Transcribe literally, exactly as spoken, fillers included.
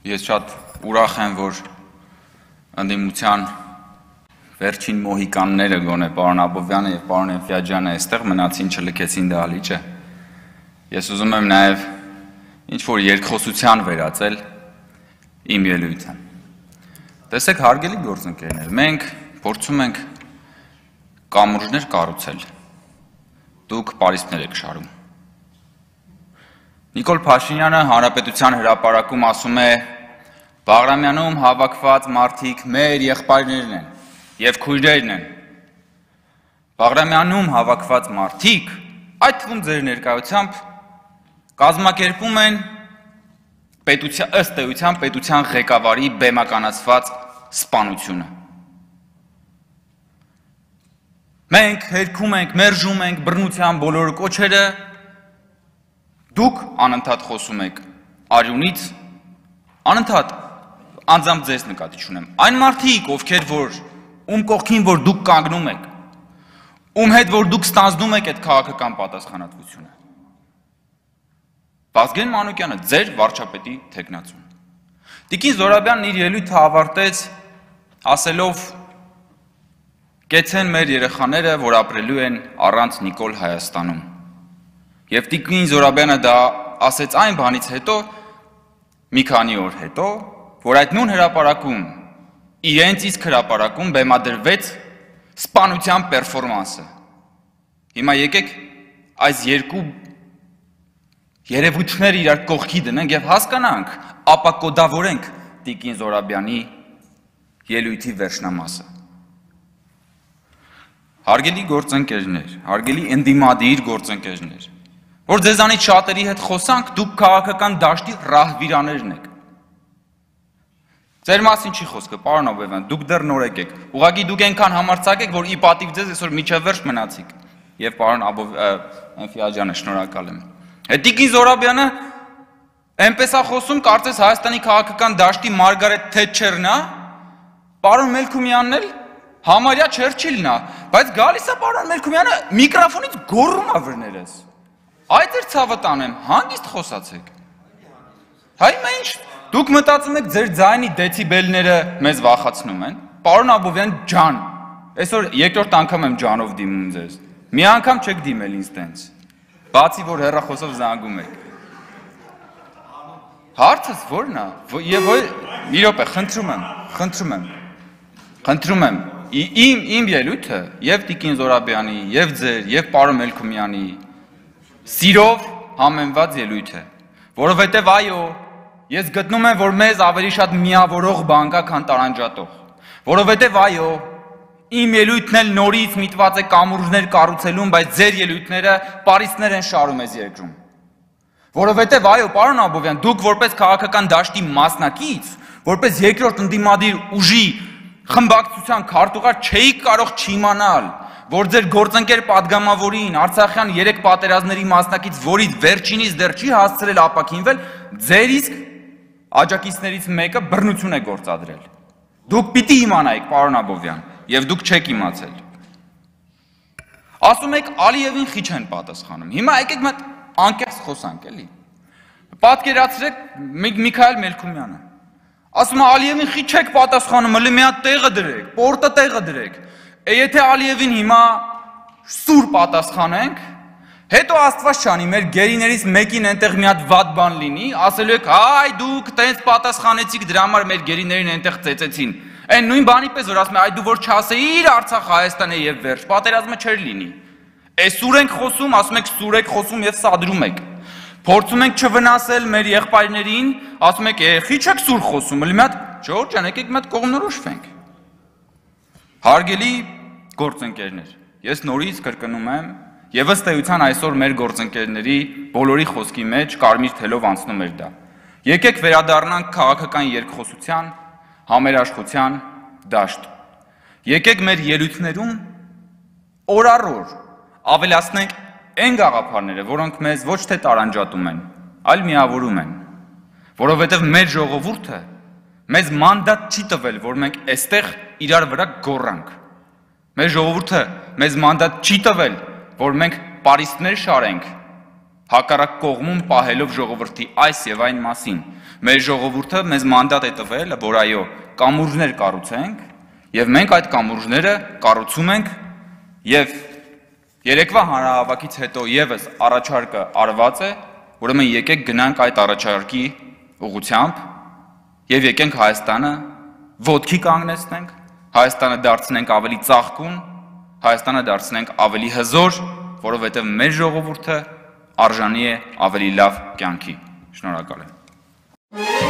Ես շատ ուրախ եմ, որ ընդդիմության վերջին մոհիկանները գոնե պարոն Աբովյանը եւ պարոն Էնֆիաջյանը այստեղ մնացին, չլքեցին դահլիճը։ Ես ուզում եմ նաեւ ինչ որ երկխոսության վերածել իմ ելույթը։ Տեսեք, հարգելի գործընկերներ, մենք փորձում ենք կամուրջներ կառուցել։ Դուք պարիսպներ եք շարում։ Նիկոլ Փաշինյանը Հանրապետության հրապարակում ասում է. Բաղրամյանում հավաքված մարդիկ մեր եղբայրներն են եւ քույրերն են։ Բաղրամյանում հավաքված մարդիկ, այդ թվում ձեր ներկայությամբ, կազմակերպում են պետության ըստ էության պետության ղեկավարի բեմականացված սպանությունը։ Մենք հերքում ենք, մերժում ենք բռնության բոլոր կոչերը, դուք անընդհատ խոսում եք արյունից, անընդհատ անձամբ ձեզ նկատի չունեմ։ Այն մարդիկ, ովքեր որ ում կողքին որ դուք կանգնում եք, ում հետ որ դուք ստանձնում եք այդ քաղաքական պատասխանատվությունը։ Վազգեն Մանուկյանը, ձեր վարչապետի թեկնածուն։ Տիկին Զորաբյանն իր ելույթը ավարտեց ասելով. Կեցեն մեր երեխաները, որ ապրելու են առանց Նիկոլ Հայաստանում։ Եվ տիկին Զորաբյանը դա ասեց այն բանից հետո, մի քանի օր հետո, որ այդ նույն հրապարակում, իրենց իսկ հրապարակում բեմադրվեց սպանության պերֆորմանսը։ Հիմա եկեք այս երկու երևույթները իրար կողքի դնենք եւ հասկանանք, ապակոդավորենք տիկին Զորաբյանի ելույթի վերջնամասը։ Հարգելի գործընկերներ, հարգելի ընդդիմադիր գործընկերներ, որ ձեզանից շատերի հետ խոսանք, դուք քաղաքական դաշտի ռահվիրաներն եք։ Ձեր մասին չի խոսքը, պարոն Աբովյան, դուք դեռ նորեկ եք։ Ուղղակի դուք այնքան համարձակ եք, որ ի պատիվ ձեզ այսօր միջև վերջ մնացիք։ Եվ պարոն Էնֆիաջյանը, շնորհակալ եմ։ Տիկին Զորաբյանը այնպես է խոսում, կարծես Հայաստանի քաղաքական դաշտի Մարգարետ Թետչերն է, պարոն Մելքումյանն էլ համարյա Չերչիլն է, բայց գալիս է պարոն Մելքումյանը միկրոֆոնից գոռում է վրներես։ Այդ էր ցավը տանեմ, հանգիստ խոսացեք։ Հայ մենք դուք մտածում եք ձեր ձայնի դեցիբելները մեզ վախացնում են։ Պարոն Աբովյան ջան, այսօր երկրորդ անգամ եմ ջանով դիմում ձեզ։ Մի անգամ չեք դիմել ինձ տենց։ Բացի որ հեռախոսով զանգում եք։ Հարցս ո՞րն է։ Եվ մի րոպե, խնդրում եմ, խնդրում եմ։ Խնդրում եմ, իմ իմ ելույթը եւ տիկին Զորաբյանի, եւ ձեր, եւ պարոն Մելքումյանի սիրով համեմված ելույթ է, որովհետեւ այո, ես գտնում եմ, որ մեզ ավելի շատ միավորող բան կա, քան տարանջատող, որովհետեւ այո, իմ ելույթն էլ նորից միտված է կամուրջներ կառուցելուն, բայց ձեր ելույթները պարիսպներ են շարում այս երկրում, որովհետեւ այո, պարոն Աբովյան, դուք որպես քաղաքական դաշտի մասնակից, որպես երկրորդ ընդդիմադիր ուժի խմբակցության քարտուղար չէիք կարող չիմանալ, որ ձեր գործընկեր падգամավորին Արցախյան երեք պատերազմների մասնակից, որից վերջինից դեռ չի հասցրել ապաքինվել, ձեր իսկ աջակիցներից մեկը բռնություն է գործադրել։ Դուք պիտի իմանայիք, պարոն Աբովյան, եւ դուք չեք իմացել։ Ասում եք Ալիևին խիչ են պատասխանում։ Հիմա եկեք մենք անկեղծ խոսանք, էլի։ Պատկերացրեք Միքայել Մելքումյանը։ Ասում է Ալիևին խի չեք պատասխանում, հələ մի հատ տեղը դրեք, պորտը տեղը դրեք։ Եթե Ալիևին հիմա սուր պատասխանենք, հետո Աստված չանի, մեր գերիներից մեկին այնտեղ մի հատ վատ բան լինի, ասելու եք, այ դուք տենց պատասխանեցիք, դրա համար մեր գերիներին այնտեղ ծեծեցին։ Այն նույն բանի պես որ ասում է, այ դու որ չասեիր Արցախ Հայաստան է եւ վերջ, պատերազմը չէր լինի։ Էս սուր ենք խոսում, ասում եք սուր եք խոսում եւ սադրում եք։ Փորձում ենք չվնասել մեր եղբայրներին, ասում եք, «Խի չեք սուր խոսում, մի հատ, Ժողովուրդ ջան, եկեք մի հատ կողմնորոշվենք»։ Հարգելի գործընկերներ, ես նորից կրկնում եմ, եւ ըստ էության այսօր մեր գործընկերների բոլորի խոսքի մեջ կարմիր թելով անցնում էր դա։ Եկեք վերադառնանք քաղաքական երկխոսության, համերաշխության դաշտ։ Եկեք մեր ելույթներում օր առ օր ավելացնենք այն գաղափարները, որոնք մեզ ոչ թե տարանջատում են, այլ միավորում են, որովհետև մեր ժողովուրդը մեզ մանդատ չի տվել, որ մենք այստեղ իրար վրա գոռանք։ Մեր ժողովուրդը մեզ մանդատ չի տվել, որ մենք պարիսպներ շարենք հակառակ կողմում պահելով ժողովրդի այս եւ այն մասին։ Մեր ժողովուրդը մեզ մանդատ է տվել, որ այո, կամուրջներ կառուցենք, եւ մենք այդ կամուրջները կառուցում ենք, եւ երեկվա հանրահավաքից հետո եւս առաջարկը արված է, ուրեմն եկեք գնանք այդ առաջարկի ուղղությամբ եւ եկենք Հայաստանը ոտքի կանգնեցնենք, Հայաստանը դարձնենք ավելի ծաղկուն, Հայաստանը դարձնենք ավելի հզոր, որովհետեւ մեր ժողովուրդը արժանի է ավելի լավ կյանքի։ Շնորհակալ եմ։